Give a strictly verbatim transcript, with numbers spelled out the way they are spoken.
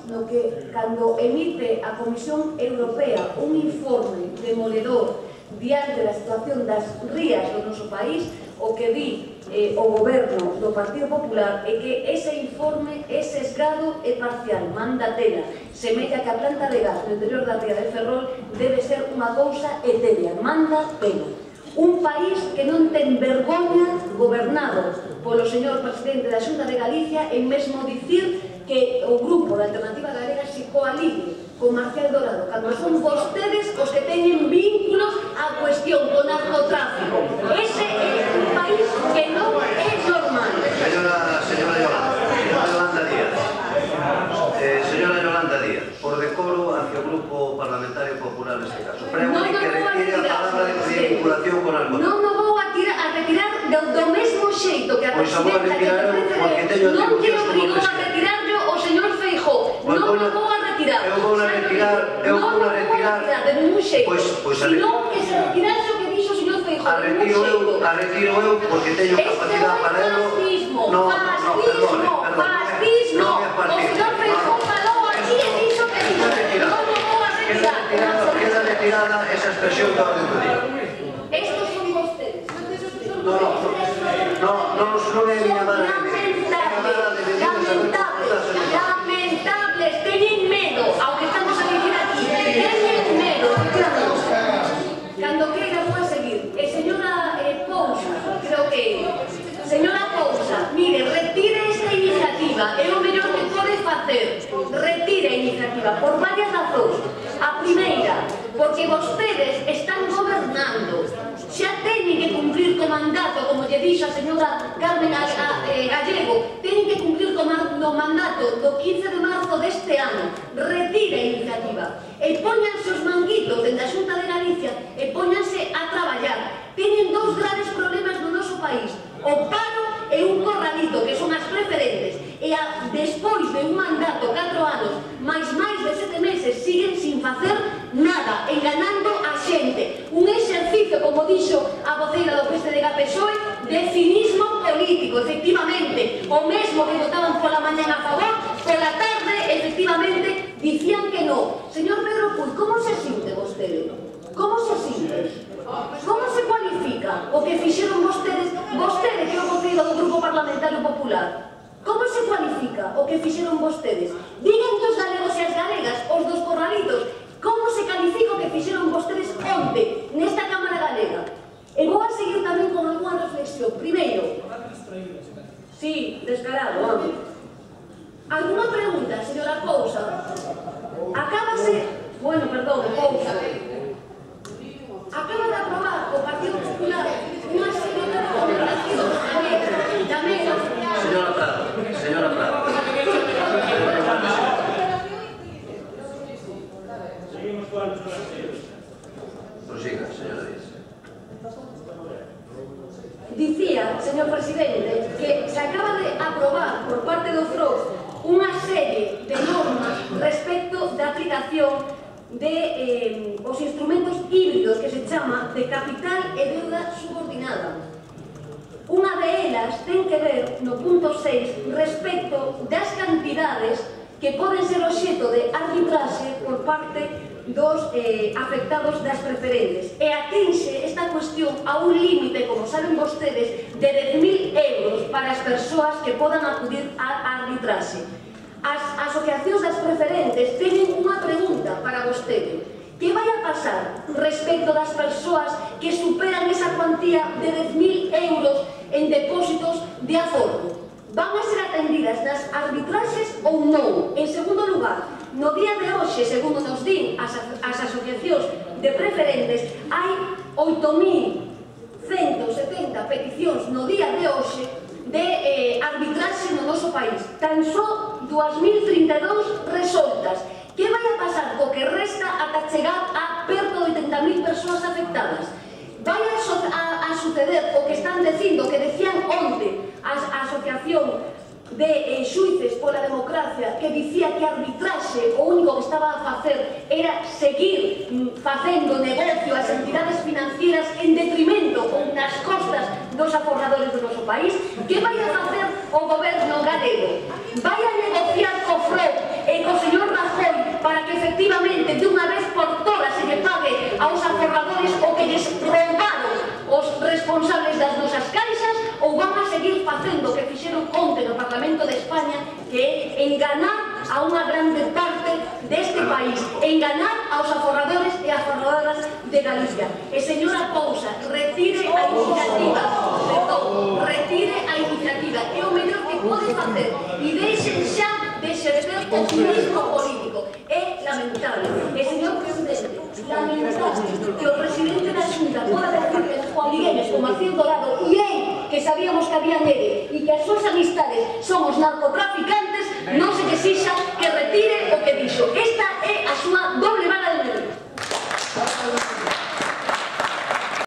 no que cando emite a Comisión Europea un informe demoledor diante da situación das rías do noso país, o que di eh, o goberno do Partido Popular é que ese informe é sesgado e parcial, manda tela, semella que a planta de gas no interior da ría de Ferrol debe ser unha cousa etérea, manda tela. Un país que non ten vergoña, gobernado polo señor presidente da Xunta de Galicia, en mesmo dicir que o grupo da Alternativa Galega se coaligue con Marcial Dorado, cando son vostedes os que teñen vínculos á cuestión do narcotráfico. Ese é un país que non é normal. Señora, señora Yolanda, señora Yolanda Díaz, eh, señora Yolanda Díaz, por decoro hacia o Grupo Parlamentario Popular neste caso, pregúntale que retire a palabra de vinculación con algo. Non me vou a retirar do mesmo xeito que a presidenta que te non que obrigou a retirarlo o señor Feijóo. Non me vou a retirar. Eu vou a retirar, eu vou a retirar de ningún xeito. Pois senón que se retirase o que dixo o señor Feijóo. A retiro eu, a retiro eu porque teño capacidade para ello. Fascismo, no, fascismo, no, fascismo. O señor Feijóo falou aquí e dixo que dixo. Non me vou a retirar. Queda retirada esa expresión da orden do día. Estos son vostedes. No, no, no, no, non é miña madre. Lamentables, teñen medo, ao que estamos a dicir aquí, teñen medo, cando queira vou a seguir. E señora Pousa, creo que señora Pousa, mire, retire esta iniciativa, é o mellor que pode facer, retire a iniciativa, por varias razóns. A primeira, porque vostedes están gobernando, xa teñen que cumplir co mandato, como lle dixo a señora Carmen Gallego, teñen que cumplir co mandato do quince de marzo deste ano. Retire a iniciativa e póñanse os manguitos dende a Xunta de Galicia e póñanse a traballar. Teñen dous graves problemas no noso país: o paro e un corralito, que son as preferentes, e a, despois de un mandato, catro anos, máis máis de sete meses, siguen sin facer nada, enganando a xente. Un exercicio, como dixo a voceira do P S D G P S O E, de cinismo político, efectivamente. O mesmo que votaban pola mañan a favor, pola tarde, efectivamente, dicían que no. Señor Pedro Puig, como se sinte vostede? Como se sinte? Como se cualifica o que fixeron vostedes, vostede que é o voceiro do Grupo Parlamentario Popular? Como se cualifica o que fixeron vostedes? Digan que os galegos e as galegas, os dos corralitos, como se califica o que fixeron vostedes onte nesta Cámara Galega? E vou a seguir tamén con alguna reflexión. Primeiro, sí, descarado, vamos. Alguna pregunta, señora Pousa? Acábase, bueno, perdón, Pousa. Acaba de aprobar o Partido Popular unha serie de recomendacións tamén. Señora Prado, señora Prado. Seguimos con los partidos. Prosiga, señora Díaz. Dicía, señor presidente, que se acaba de aprobar por parte do F R O unha serie de normas respecto da aplicación de eh, os instrumentos híbridos que se chama de capital e deuda subordinada. Unha de elas ten que ver no punto seis respecto das cantidades que poden ser obxeto de arbitraxe por parte dos eh, afectados das preferentes e atinxe esta cuestión a un límite, como saben vostedes, de dez mil euros para as persoas que podan acudir a arbitraxe. As asociacións das preferentes teñen unha pregunta para vostede. Que vai a pasar respecto das persoas que superan esa cuantía de dez mil euros en depósitos de aforro? Van a ser atendidas nas arbitraxes ou non? En segundo lugar, no día de hoxe, segundo nos din as, as asociacións de preferentes, hai oito mil cento setenta peticións no día de hoxe de eh, arbitraxe no noso país. Tan só dúas mil trinta e dous resoltas. Que vai a pasar co que resta ata chegar a perto de oitenta mil persoas afectadas? Vai a, so a, a suceder o que están dicindo, que decían onte a, a asociación de eh, xuíces pola democracia, que dicía que a arbitraxe o único que estaba a facer era seguir mm, facendo negocio ás entidades financieras en detrimento ou nas costas dos aforradores do noso país. Que vai a facer o goberno galego? Vai a negociar co F R O e co señor facendo o que fixeron onte no Parlamento de España, que é enganar a unha grande parte deste país, enganar aos aforradores e aforradoras de Galicia. E señora Pousa, retire a iniciativa, perdón, retire a iniciativa, é o mellor que pode facer, e deixen xa de exercer o turismo político. É lamentable. E señor presidente, lamentable que o presidente da Xunta poda decirles Juan Migueles como Marcín Dorado e él, que sabíamos que había nele e que as súas amistades son os narcotraficantes, non se que exixa que retire o que dixo. Esta é a súa doble vara